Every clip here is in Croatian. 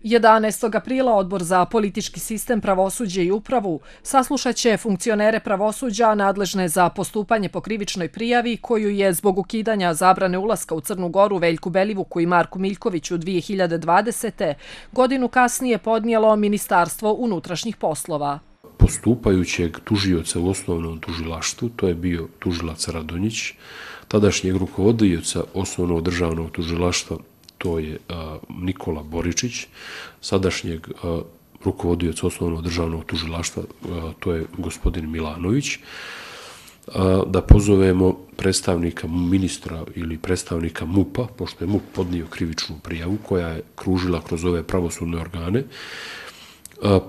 11. aprila Odbor za politički sistem, pravosuđe i upravu saslušat će funkcionere pravosuđa nadležne za postupanje po krivičnoj prijavi koju je zbog ukidanja zabrane ulaska u Crnu Goru Veljku Belivuku i Marku Miljkoviću 2020. godinu kasnije podnijelo Ministarstvo unutrašnjih poslova. Postupajućeg tužioca u osnovnom tužilaštvu, to je bio tužilac Radonjić, tadašnjeg rukovodioca osnovnog državnog tužilaštva, to je Nikola Boričić, sadašnjeg rukovodioca osnovnog državnog tužilaštva, to je gospodin Milanović, da pozovemo predstavnika ministra ili predstavnika MUP-a, pošto je MUP podnio krivičnu prijavu koja je kružila kroz ove pravosudne organe,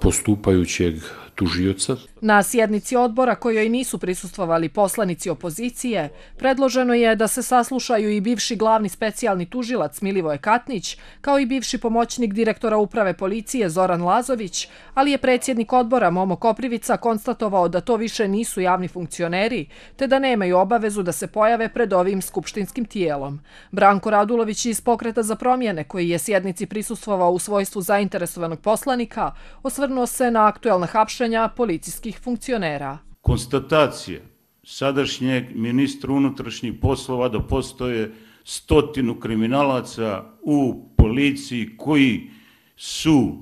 postupajućeg tužioca. Na sjednici odbora kojoj nisu prisustvovali poslanici opozicije, predloženo je da se saslušaju i bivši glavni specijalni tužilac Milivoje Katnić, kao i bivši pomoćnik direktora uprave policije Zoran Lazović, ali je predsjednik odbora Momo Koprivica konstatovao da to više nisu javni funkcioneri, te da nemaju obavezu da se pojave pred ovim skupštinskim tijelom. Branko Radulović iz Pokreta za promjene, koji je sjednici prisustvovao u svojstvu zainteresovanog poslanika, osvrnuo se na aktuelna hapšenja policijskih funkcionera. Konstatacije sadašnjeg ministra unutrašnjih poslova da postoje 100 kriminalaca u policiji koji su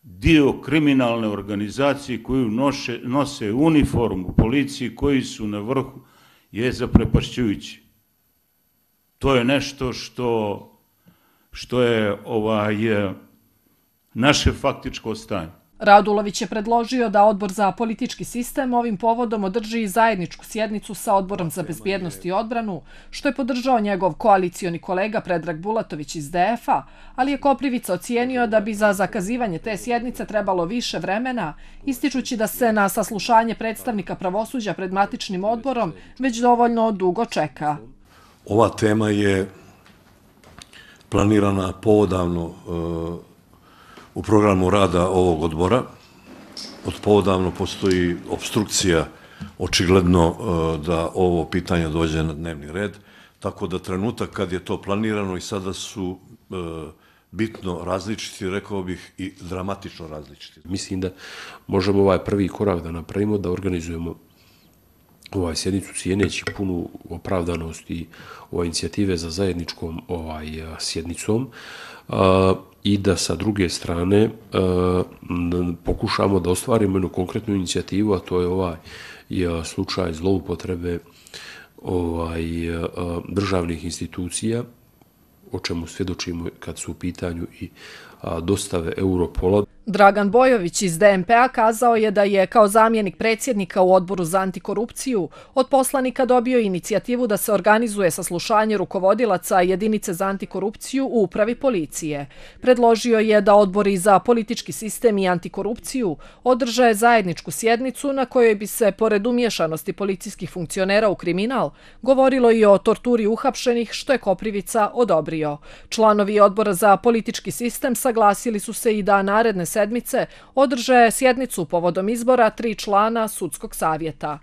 dio kriminalne organizacije, koji nose uniformu policiji, koji su na vrhu, je zaprepašćujući. To je nešto što je naše faktičko stanje. Radulović je predložio da Odbor za politički sistem ovim povodom održi zajedničku sjednicu sa Odborom za bezbjednost i odbranu, što je podržao njegov koalicioni kolega Predrag Bulatović iz DF-a, ali je Koprivica ocijenio da bi za zakazivanje te sjednice trebalo više vremena, ističući da se na saslušanje predstavnika pravosuđa pred matičnim odborom već dovoljno dugo čeka. Ova tema je planirana poodavno u programu rada ovog odbora. Od poodavno postoji opstrukcija, očigledno da ovo pitanje dođe na dnevni red, tako da trenutak kad je to planirano i sada su bitno različiti, rekao bih i dramatično različiti. Mislim da možemo ovaj prvi korak da napravimo, da organizujemo sjednicu cijeneći punu opravdanost i inicijative za zajedničkom sjednicom, i da sa druge strane pokušamo da ostvarimo jednu konkretnu inicijativu, a to je slučaj zloupotrebe državnih institucija, o čemu svjedočimo kad su u pitanju i dostave Europola. Dragan Bojović iz DNP-a kazao je da je kao zamjenik predsjednika u Odboru za antikorupciju od poslanika dobio inicijativu da se organizuje saslušanje rukovodilaca jedinice za antikorupciju u upravi policije. Predložio je da odbori za politički sistem i antikorupciju održe zajedničku sjednicu na kojoj bi se, pored umješanosti policijskih funkcionera u kriminal, govorilo i o torturi uhapšenih, što je Koprivica odobrio. Članovi Odbora za politički sistem saglasili su se i da naredne sedmice održe sjednicu povodom izbora 3 člana sudskog savjeta.